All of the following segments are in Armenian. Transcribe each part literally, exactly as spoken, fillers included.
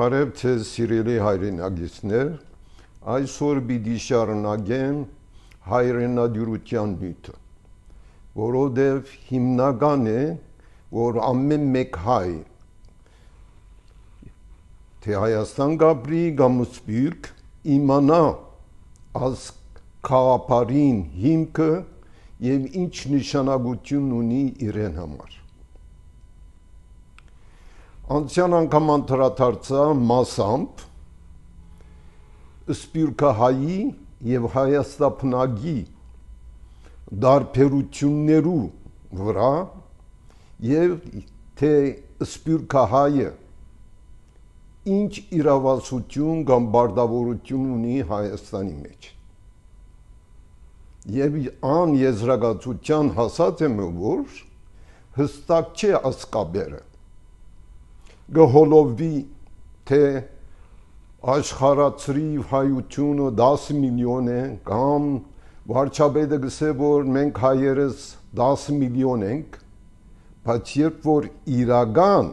Բարև ձեզ սիրելի հայրենագիտներ, այսօր պիտի շարունակեմ հայրենադյուրության նյութը, որովհետև հիմնական է, որ ամեն մեկ հայ, թե Հայաստան գապրի կամ սփյուռք, իմանա այս քաղաքարին հիմքը եւ ինչ նշանակություն ունի իրեն համար։ Անցյալ անգամ անդրադարձա մասամբ սփյուռքահայի եւ հայաստանապնագի դարբերություններու վրա եւ թե սփյուռքահայը ինչ իրավասություն կամ բարդավորություն ունի Հայաստանի մեջ։ Եվ ան եզրակացության հասած եմ, որ հստակ չէ ասկաբերը, գհոլովի, թե աշխարհացրիվ հայությունը դաս միլիոն է, կամ վարչապետը գսե, որ մենք հայերս դաս միլիոն ենք, բայց երբ որ իրական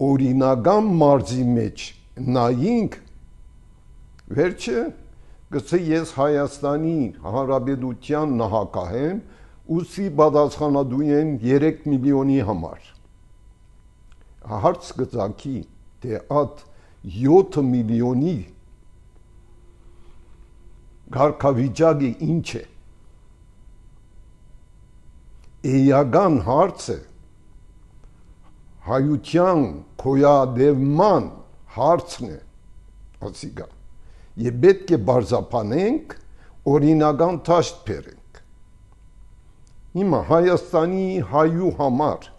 օրինական մարզի մեջ նայինք, վերջը գսե ես Հայաստանի Հանրապետության նահանգահ եմ, ուսի պատասխանատու եմ երեք միլիոնի համար։ Հարց գծակի, թե այդ յոթ միլիոնի կարգավիճակը ինչ է։ Էական հարցը հայության գոյատևման հարցն է, ասիկա, եւ պետք է բարձրացնենք, օրինական դաշտ բերենք։ Հիմա Հայաստանի հայու համար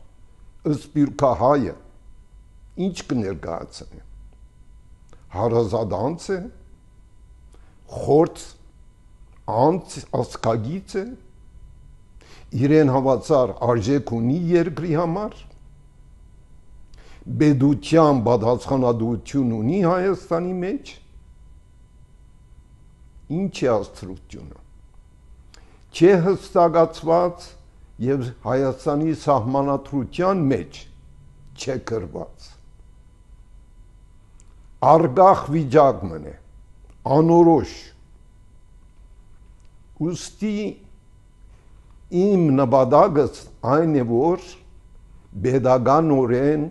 սփյուռքահայը ինչ կներկայացնի։ Հարազատ է, խորտ անց ասկագից է, իրեն հավասար արժեք ունի երկրի համար, բեդության պատասխանատվություն ունի Հայաստանի մեջ, ինչ է աստրությունը, չէ հստակացված եւ Հայաստանի սահմանադրության մեջ չէ գրված, արգախ վիճակ մնե, անորոշ, ուստի իմ նպատակս այն է, որ պետականորեն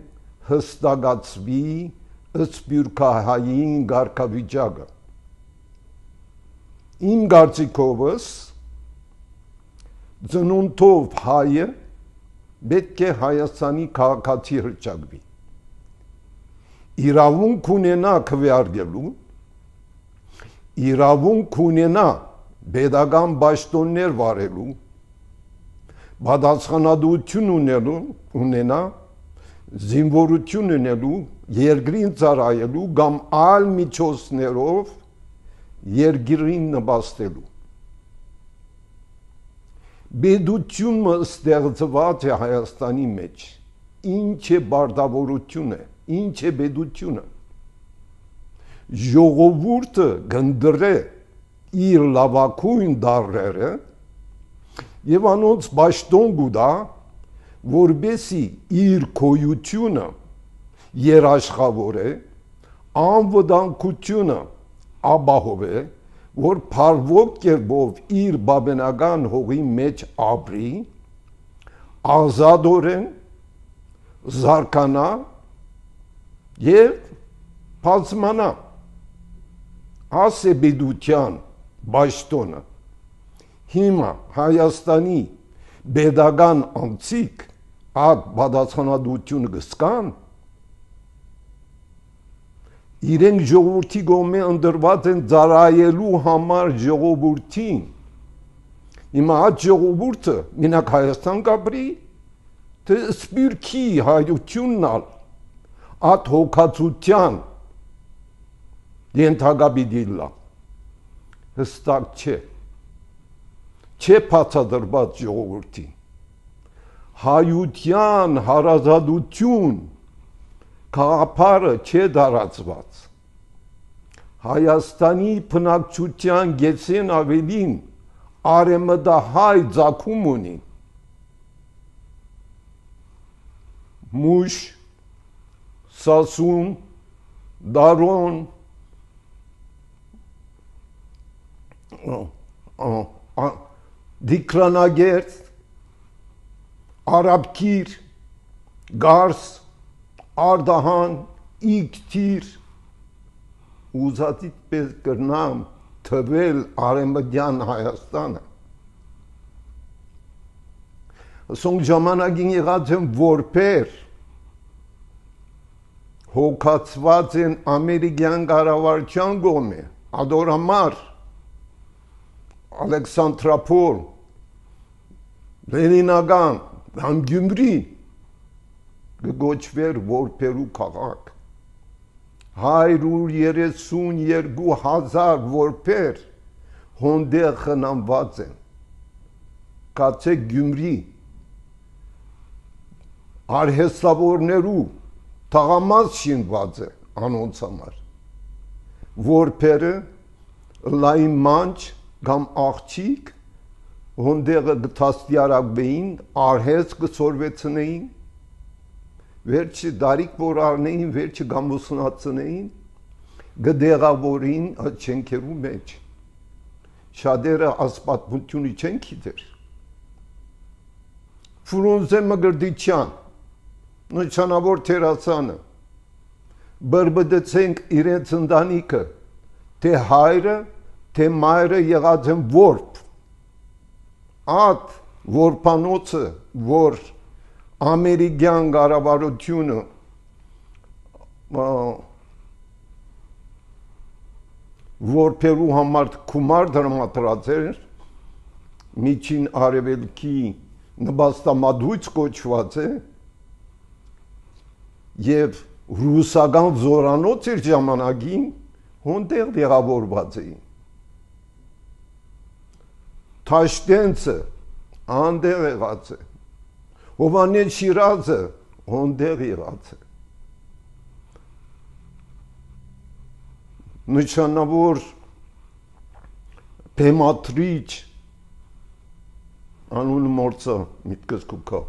հստակացվի սփյուռքահային կարգավիճակը։ Իմ կարծիքովս ծնունդով հայը պետք է Հայաստանի քաղաքացի հռչակվի։ Իրավունք ունենա քվեարկելու, իրավունք ունենա պետական պաշտոններ վարելու, պատասխանատվություն ունենալու, ունենա, զինվորություն ունենալու, երկրին ծառայելու կամ այլ միջոցներով երկրին նպաստելու։ Պետությունը ստեղծված է Հայաստանի մեջ, ինչ է պարտավորությունը, ինչ է պետությունը։ Ժողովուրդը կընտրե իր լավագույն դառերը եւ անոնց պաշտոն կուտա, որբեսի իր գոյությունը երաշխավորե, անվտանգությունը ապահովե, որ փառվող կերպով իր բաբենական հողի մեջ ապրի, ազատորեն զարգանա եւ բացմանա, ասե պետության պաշտոնը։ Հիմա Հայաստանի պետական անձիկ այդ պատասխանատվությունը կստան, իրենք ժողովրդի կողմէ ընտրված են ծառայելու համար ժողովրդին։ Հիմա այդ ժողովուրդը մենակ Հայաստան կապրի, թե սփյուռքի հայությունն ալ այդ հոգացության ենթակա պիտի լա։ Հստակ չէ։ Չէ բացատրված ժողովրդին։ Հայության հարազատություն գաղափարը չէ դարածված։ Հայաստանի բնակչության գեցեն ավելին արեմտահայ ծագում ունի։ Մուշ, Սասուն, Դարոն, Դիկրանագերտ, Արաբկիր, Գարս, Արդահան, Իգտիր, ուզածիտ պես կրնամ թվել Արեմդյան Հայաստանը։ Սոնք ժամանակին եղած են որպեր, հոգացված են ամերիկյան կառավարության կողմէ, Ադորամար, Ալեքսանդրապոլ, Լենինական, համ Գյումրի կգոչվեր որպերու քաղաք։ Հայրուր երեսուն երկու հազար որպեր հոնդեղ խնամված են։ Կացեք Գյումրի արհեստավորներու թաղամաս շինված է անոնց համար։ Որպերը լայն մանչ կամ աղջիկ հոնդեղը գտաստիարակվեին, արհեստ կսորվեցնեին, վերջի դարիք որ արնեին, վերջի գամուսնացնեին, գդեղավորին այդ չենքերու մեջ։ Շատերը ասպատմությունը չեն գիտեր։ Ֆրունզե Մգրդիչյան, նշանավոր թերասանը, բրբդեցենք իրենց ընտանիքը, թե հայրը, թե մայրը եղած են որբ, ատ որպանոցը, որ ամերիկյան կառավարությունը որպերու համար գումար դրամատրած էր, միջին արևելքի նպաստամատույց կոչված է, և ռուսական զորանոց էր ժամանակին հոնդեղ դեղավորված էին։ Թաշտենցը անդեղ եղած է, Հովանես Շիրազը հոնդեղ եղած է։ Նշանավոր բեմադրիչ անունը մորցա միտքս կուքա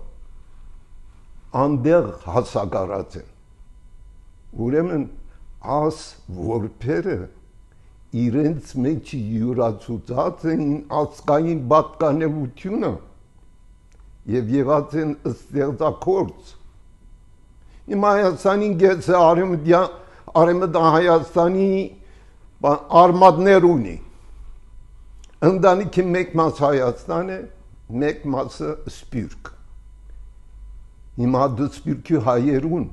անդեղ հասակարած են։ Ուրեմն աս որպերը իրենց մեջ յուրացուցած են ազգային պատկանելությունը և եղած են ստեղծագործ։ Իմ Հայաստանին գեց է Արեմդյան Հայաստանի արմատներ ունի։ Ընտանիքի մեկ մաս Հայաստան է, մեկ մասը Սփյուռք։ Հիմա դու Սփյուռքի հայերուն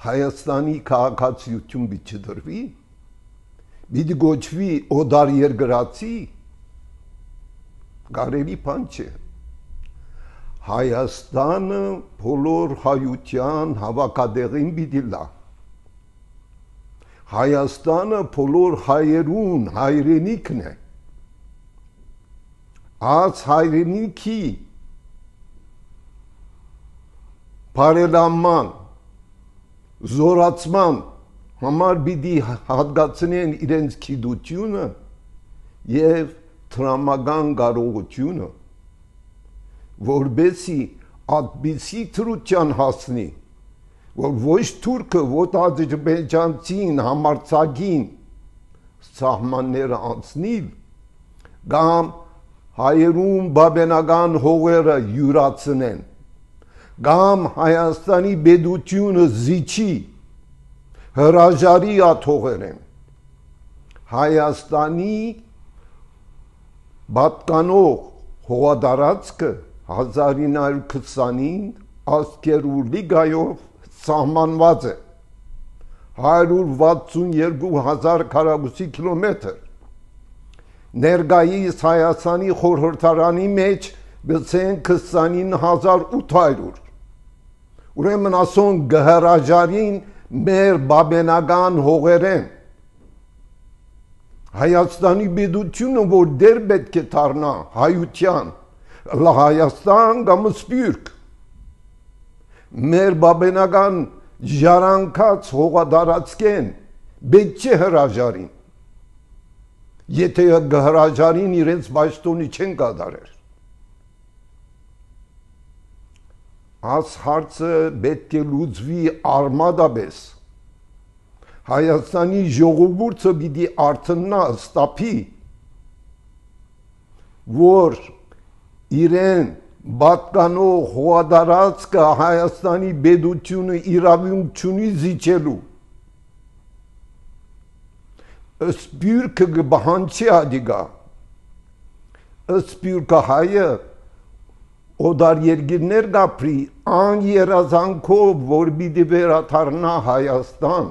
Հայաստանի քաղաքացիություն պիտի դրվի, պիտի գոչվի օդար երկրացի, կարելի բան չէ։ Հայաստանը բոլոր հայության հավաքատեղին պիտի լա։ Հայաստանը բոլոր հայերուն հայրենիքն է։ Այս հայրենիքի բարելաման, զորացման համար պիտի հատկացնեն իրենց գիտությունը և տրամական կարողությունը, որբեսի այդպիսի թրության հասնի, որ ոչ թուրքը, ոչ ադրբեջանցին, համարձակին սահմանները անցնիլ, կամ հայերուն բաբենական հողերը յուրացնեն, կամ Հայաստանի պետությունը զիջի, հրաժարի աթողերեն, Հայաստանի պատկանող հողատարածքը հազար ինը հարյուր քսանին ազգերու լիգայով սահմանված է հարյուր վաթսուն երկու հազար քառակուսի կիլոմետր։ Ներկայիս Հայաստանի խորհրդարանի մեջ գցեն քսանինը հազար ութ հարյուր։ Ուրեմն ասոն գհրաժարին մեր բաբենական հողերեն։ Հայաստանի պետությունը, որ դեր պետք է դառնա հայության, Հայաստան կամ Սփյուռք, մեր բաբենական ժառանգած հողատարածքեն պետք չէ հրաժարին։ Եթե հրաժարին իրենց պաշտոնի չեն կատարեր։ Այս հարցը պետք է լուծվի արմատապես։ Հայաստանի ժողովուրդը պիտի արթնա ստապի, որ իրեն պատկանող հողատարածքը Հայաստանի պետությունը իրավունք չունի զիջելու։ Սպյուրքը կբահանչի ադիգա, սպյուրքը հայը օդար երկիրներ գապրի ան երազանքով, որ պիտի վերադառնա Հայաստան,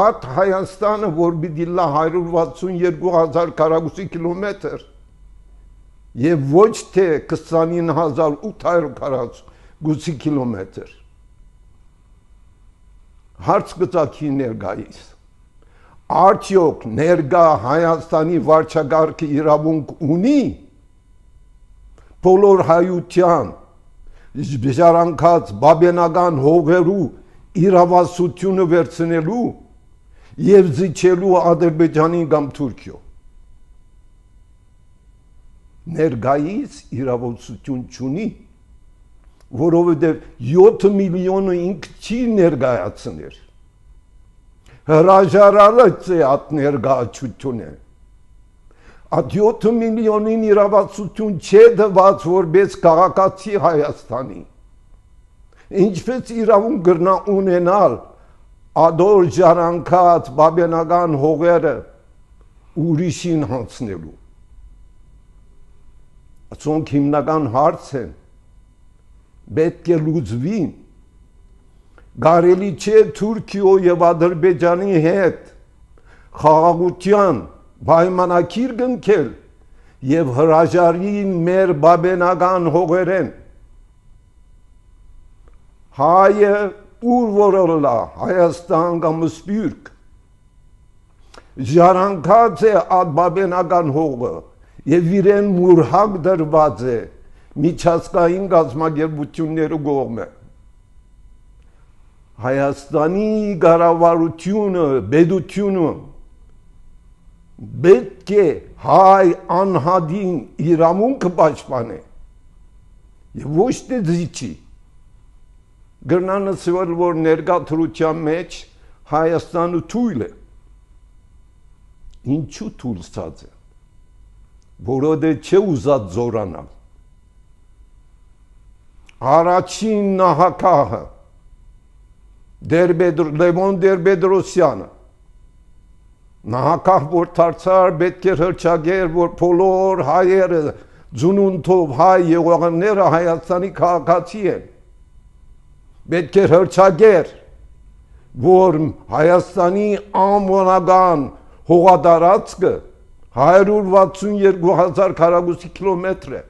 այդ Հայաստանը, որ պիտի լա հարյուր վաթսունյոթ հազար քառակուսի կիլոմետր եւ ոչ թե քսանինը հազար ութ հարյուր քառակուսի կիլոմետր։ Հարց կծակի ներկայիս, արդյոք ներկա Հայաստանի վարչակարգը իրավունք ունի բոլոր հայության ժառանգած բաբենական հողերու իրավասությունը վերցնելու եւ զիջելու Ադրբեջանին կամ Թուրքիո։ Ներկայիս իրավասություն չունի, որովհետև յոթ միլիոնը ինքը չի ներկայացներ։ Հրաժարարած է այդ ներկայացությունը։ Այդ յոթ միլիոնին իրավասություն չէ դված որպես քաղաքացի Հայաստանի։ Ինչպես իրավունք կրնա ունենալ ադոր ժառանգած բաբենական հողերը ուրիշին հանձնելու։ Ասոնք հիմնական հարց են, պետք է լուծվին։ Կարելի չէ Թուրքիո եւ Ադրբեջանի հետ խաղաղության պայմանագիր կնքել եւ հրաժարին մեր բաբենական հողերեն։ Հայը ուր որոլա Հայաստան կամ Սփյուռք ժառանգած է այդ բաբենական հողը եւ իրեն մուրհակ դրված է միջազգային գազམ་ագերբությունների կողմը։ Հայաստանի կառավարությունը, պետությունը պետք է հայ անհատին իրավունքը պաշտպանի եւ ոչ թե զիջի։ Գրնանացվել, որ ներկա թրության մեջ Հայաստանը թույլ է։ Ինչու թույլ ստացած է։ Որովհետեւ չէ ուզած զորանալ։ Առաջին նահատակը Դերբեդր Լևոն Տեր-Պետրոսյանը նահատակ որ դարձար պետք է հրճագեր, որ բոլոր հայերը ծնունդով հայ եղողները Հայաստանի քաղաքացի են։ Պետք է հրճագեր, որ Հայաստանի անվանական հողատարածքը հարյուր վաթսունյոթ հազար քառակուսի կիլոմետր է։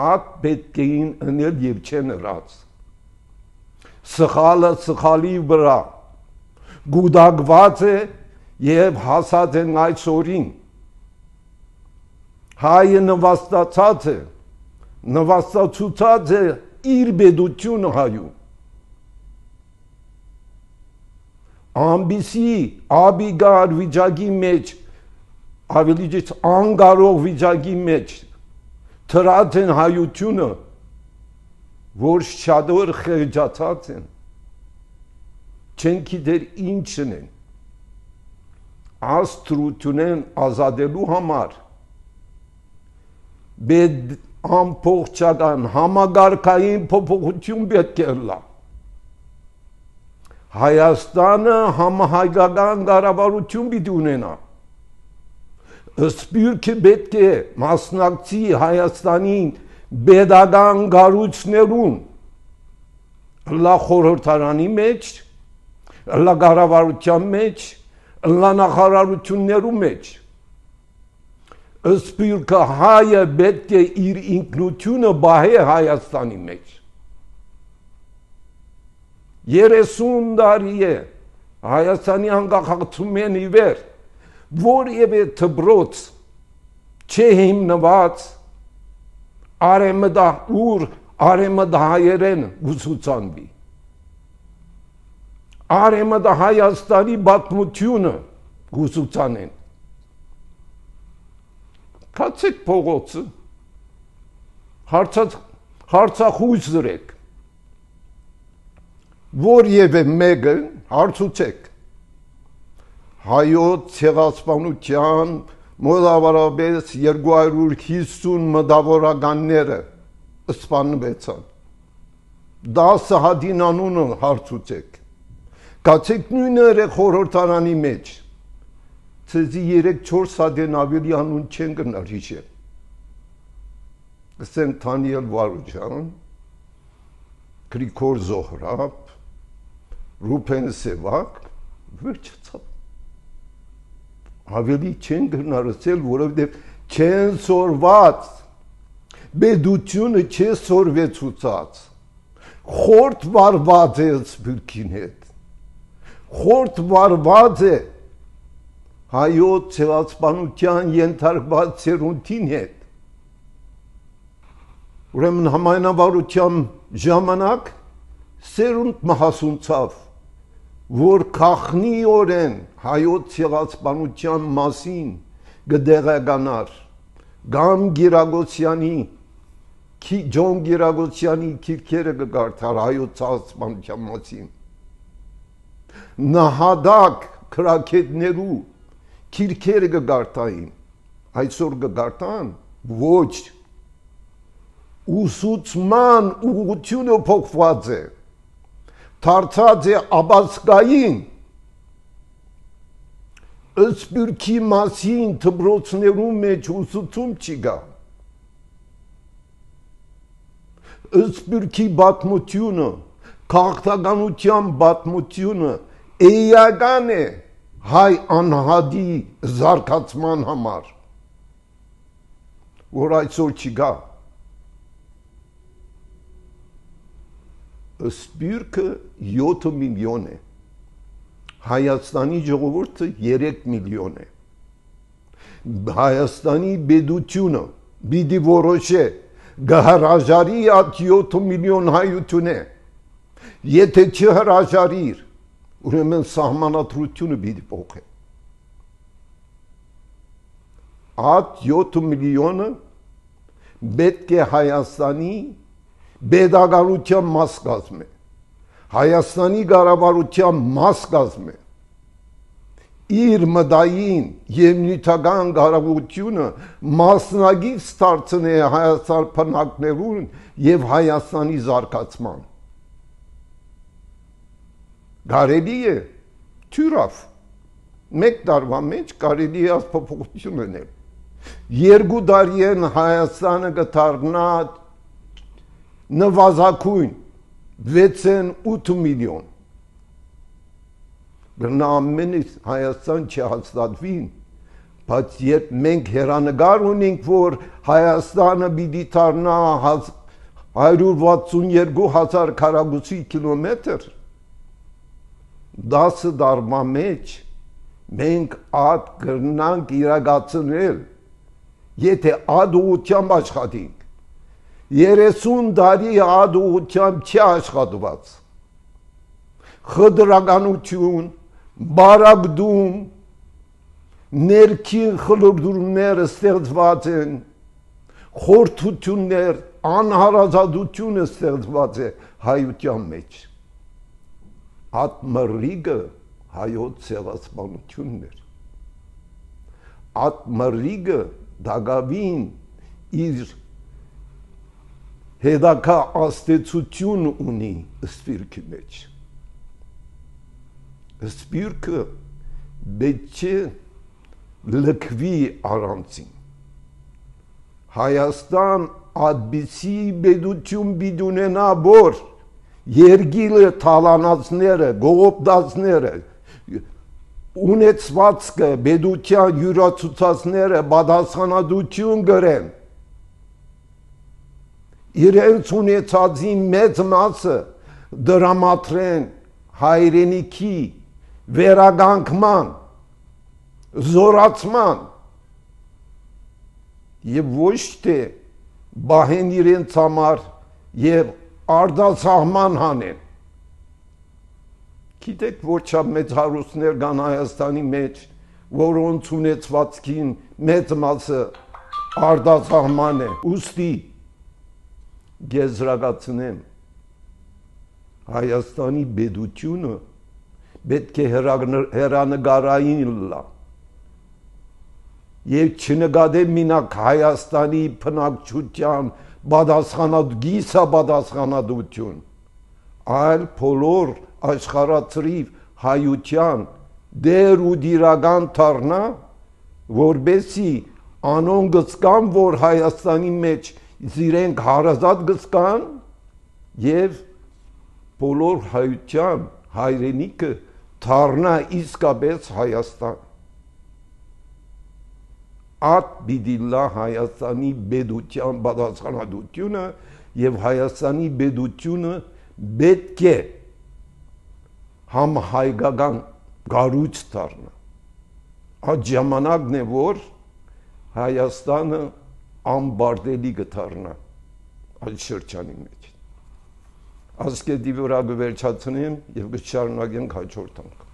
Այդ պետք էին ընել եւ չեն ըրած։ Սխալը սխալի վրա գուդակված է եւ հասած են այսօրին։ Հայը նվաստացած է, նվաստացուցած է իր պետությունը հայում։ Ամբիսի աբիգար վիճակի մեջ, ավելի ճիշտ անկարող վիճակի մեջ թրած են հայությունը, որ շատոր խեղճացած են, չեն գիտեր ինչն են, աստրությունեն ազատելու համար, պետք ամբողջական համագարկային փոփոխություն պետք է լա։ Հայաստանը համահայկական կառավարություն պիտի ունենա։ Սփյուռքը պետք է մասնակցի Հայաստանին պետական կառույցներուն, լա խորհրդարանի մեջ, լա կառավարության մեջ, լա նախարարություններու մեջ։ Սփյուռքը հայը պետք է իր ինքնությունը բահե Հայաստանի մեջ։ երեսուն տարի է Հայաստանի անկախացումեն ի վեր որևէ դպրոց չէ հիմնված արեմդահուր արեմդահայերեն ուսուցանվի։ Արեմդահայաստանի պատմությունը ուսուցանեն։ Կացեք փողոցը, հարցախույս դրեք։ որևէ մեկը հարցուցեք հայոց ցեղասպանության մոտավորապես երկու հարյուր հիսուն մտավորականները սպանվեցան դասը հատին անունը հարցուցեք կացեք նույնը խորհրդարանի մեջ ցեզի երեք չորս հատեն ավելի անուն չեն գնար հիշել Սեն Թանիել Վարուջան Գրիգոր Զոհրաբ Ռուփեն Սևակ վերջացավ ավելի չեն գնարսել որովհետև չեն սորված բեդությունը չէ սորվեցուցած խորտ վարված է սպիրկին հետ խորտ վարված է հայոց ցեղասպանության ենթարկված ցերունտին հետ ուրեմն համայնավարության ժամանակ սերունդ մահասունցավ որ քախնիորեն հայոց ցեղասպանության մասին գդեղականար Գամ Գիրագոսյանի Ջոն Գիրագոսյանի քիրքերը կգարթար հայոց ցեղասպանության մասին նահադակ քրակետներու քիրքերը կգարտային այսօր կգարտան ոչ ուսուցման ուղղությունը փոխված է դարձած է աբասկային ըսպիրքի մասին դպրոցներու մեջ ուսուցում չի գա ըսպիրքի պատմությունը քաղաքականության պատմությունը էական է հայ անհադի զարգացման համար որ այսօր չի գա Սպիրկը յոթ միլիոն է Հայաստանի ժողովուրդը երեք միլիոն է Հայաստանի բեդությունը պիտի որոշե գհրաժարի այդ յոթ միլիոն հայություն է եթե չհրաժարիր ուրեմն սահմանադրությունը պիտի փոխե այդ յոթ միլիոնը պետք է Հայաստանի Բեդագանության մաս կազմե Հայաստանի կառավարության մաս կազմե իր մտային եւ նյութական կարողությունը մասնագից դարձնե Հայաստան բնակներուն եւ Հայաստանի զարգացման Կարելի է թյուրավ մեկ տարվա մեջ կարելի է փոփոխություն անել երկու տարի են Հայաստանը կդառնա նվազագույն վեցն ութ միլիոն Բրնա ամենից Հայաստան չհաստատվին բայց երբ մենք հերանեկար ունենք որ Հայաստանը պիտի դառնա հարյուր վաթսունյերկու հազար քառակուսի կիլոմետր դասը տարվա մեջ մենք այդ կրնանք իրագացնել եթե այդ ուղղությամբ աշխատենք երեսուն տարի այդ ուղղությամբ չի աշխատված խտրականություն բարակդում ներքին խլորդուրները ստեղծված են խորթություններ անհարազատությունը ստեղծված է հայության մեջ այդ մռիգը հայոց ցեղասպանությունն էր այդ մռիգը դակավին իր հետակա աստեցություն ունի սպիրկի մեջ սպիրկը պետք է լքվի առանցին Հայաստան այդպիսի պետություն պիտի ունենա որ երգիլը թալանածները գողոպտածները ունեցվածքը պետության յուրացուցածները պատասխանատվություն կրեն իրենց ունեցածի մեծ մասը դրամատրեն հայրենիքի վերականգնման զորացման եւ ոչ թե բահեն իրենց համար եւ արտասահման հանեն գիտեք որ չափ մեծ հարուստներ կան Հայաստանի մեջ որոնց ունեցվածքին մեծ մասը արտասահման է ուստի գեզրակացնեմ Հայաստանի բեդությունը պետք է հերանեկարային լա եւ չնկատե մինակ Հայաստանի բնակչության բադասխանատու բադասխանատվություն, այլ բոլոր աշխարհացրիվ հայության դեր ու դիրական դառնա, որբեսի անոն գցկան, որ Հայաստանի մեջ իրենք հարազատ գցկան եւ բոլոր հայության հայրենիքը դառնա իսկապես Հայաստան։ Ատ պիտի լա Հայաստանի բեդության բադասխանատվությունը եւ Հայաստանի բեդությունը պետք է համահայկական գառույց դառնա։ Այդ ժամանակն է, որ Հայաստանը անբարտելի կդառնա այդ շրջանի մեջ։ Ասկետի վրա կվերջացնեմ եւ կշարունակենք հաջորդ անգամ։